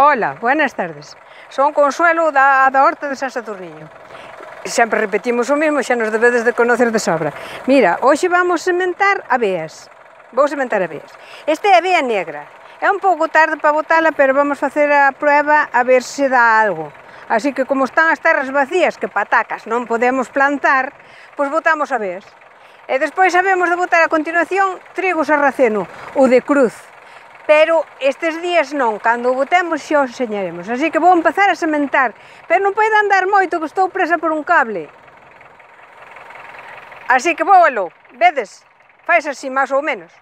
Hola, buenas tardes. Son Consuelo da Horta de San Sadurniño. Sempre repetimos o mesmo, xa nos debedes de conocer de sobra. Mira, hoxe vamos sementar aveas. Vou sementar aveas. Esta é a avea negra. É un pouco tarde para botala, pero vamos facer a prueba a ver se dá algo. Así que como están as terras vacías, que patacas non podemos plantar, pois botamos aveas. E despois sabemos de botar a continuación trigo sarraceno, o de cruz. Pero estes días non, cando o botemos xa os enseñaremos. Así que vou empezar a sementar, pero non podo andar moito que estou presa por un cable. Así que vou aló, vedes? Fais así máis ou menos.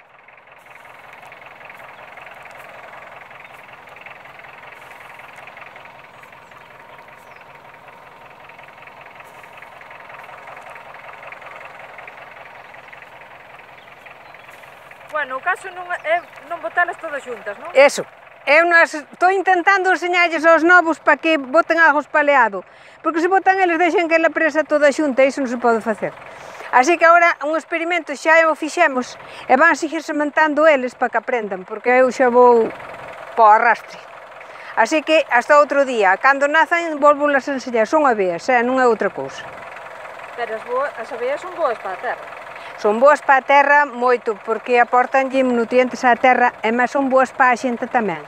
Bueno, o caso non é non botalas todas xuntas, non? Eso. Eu estou intentando enseñarlles aos novos para que boten algo espaleado, porque se botan eles deixan que ela presa toda xunta e iso non se pode facer. Así que agora un experimento xa o fixemos e van seguir sementando eles para que aprendan, porque eu xa vou para o arrastre. Así que hasta outro día, cando nazan volvolas a enseñar, son aveas, non é outra cousa. Pero as aveas son boas para a terra. Son boas para a terra moito, porque aportanlle nutrientes á terra e máis son boas para a xente tamén.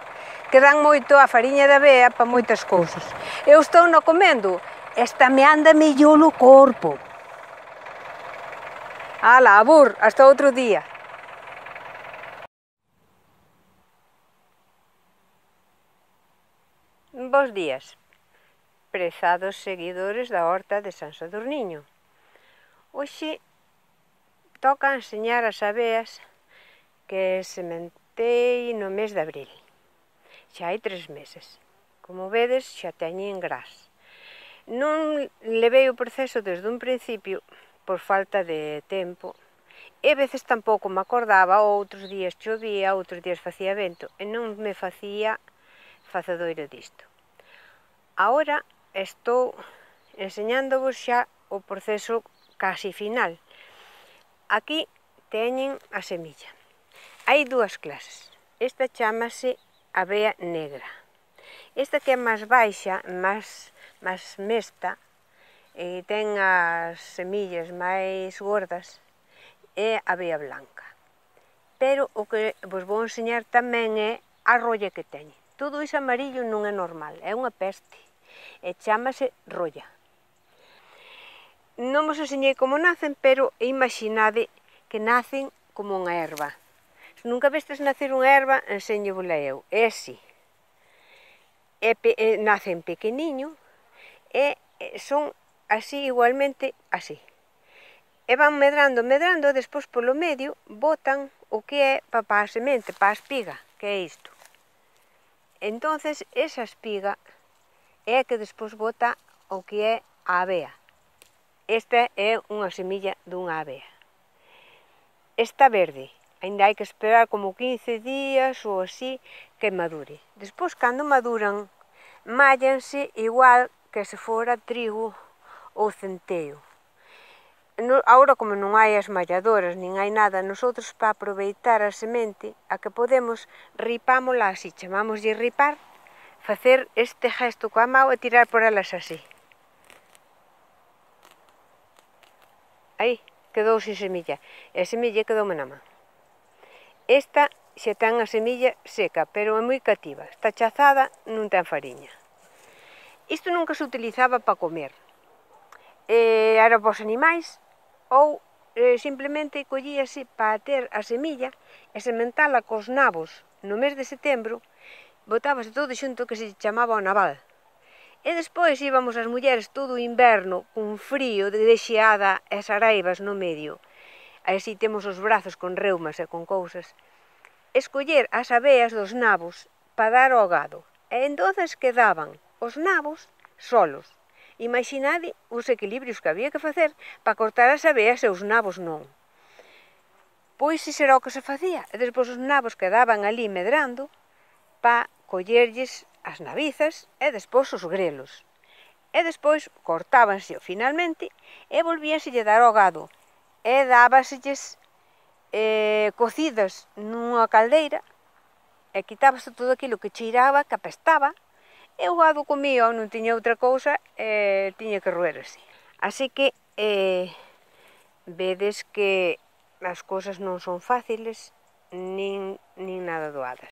Que dan moito a fariña de avea para moitas cousas. Eu estou no comendo, esta me anda mellor o corpo. Ala, abur, hasta outro día. Bos días, prezados seguidores da Horta de San Sadurniño. Hoxe toca enseñar as aveas que sementei no mes de abril. Xa hai 3 meses. Como vedes, xa teñen gras. Non levei o proceso desde un principio por falta de tempo e a veces tampouco me acordaba, outros días chovía, outros días facía vento e non me facía facedoiro disto. Agora estou enseñándovos xa o proceso casi final. Aquí teñen a semilla. Hai dúas clases. Esta chámase avea negra. Esta que é máis baixa, máis mesta, e ten as semillas máis gordas, é a avea blanca. Pero o que vos vou enseñar tamén é a rolla que teñen. Todo iso amarillo non é normal, é unha peste. E chámase rolla. Non vos enseñei como nacen, pero imaginade que nacen como unha erva. Se nunca vestes nacer unha erva, enseño-vola eu. É así. Nacen pequeniño e son así igualmente así. E van medrando, medrando, e despois polo medio botan o que é para a semente, para a espiga, que é isto. Entonces, esa espiga é a que despois bota o que é a avea. Esta é unha semilla dunha avea. Está verde, ainda hai que esperar como 15 días ou así que madure. Despois, cando maduran, mállanse igual que se fora trigo ou centeo. Agora, como non hai as malladoras, nin hai nada, nosotros para aproveitar a semente, a que podemos, ripámola así, chamámoslle ripar, facer este gesto coa mão e tirar por elas así. Aí, quedou sin semilla. E a semilla quedoume na man. Esta xa ten a semilla seca, pero é moi cativa. Está chazada, non ten fariña. Isto nunca se utilizaba para comer. Era para os animais ou simplemente collíase para ter a semilla e sementala cos nabos no mes de setembro, botábase todo xunto que se chamaba o naval. E despois íbamos as mulleres todo o inverno cun frío de xeada e saraivas no medio. Así temos os brazos con reumas e con cousas. Escoller as aveas dos nabos para dar ao gado. E entonces quedaban os nabos solos. Imaginade os equilibrios que había que facer para cortar as aveas e os nabos non. Pois iso era o que se facía. E despois os nabos quedaban ali medrando para collerlles as nabizas e despois os grelos. E despois cortábanse finalmente e volvíanselle dar ao gado. E dábaselles cocidas nunha caldeira e quitábase todo aquilo que cheiraba, que apestaba, e o gado comía ou non tiña outra cousa e tiña que roer así. Así que vedes que as cousas non son fáciles nin nada doadas.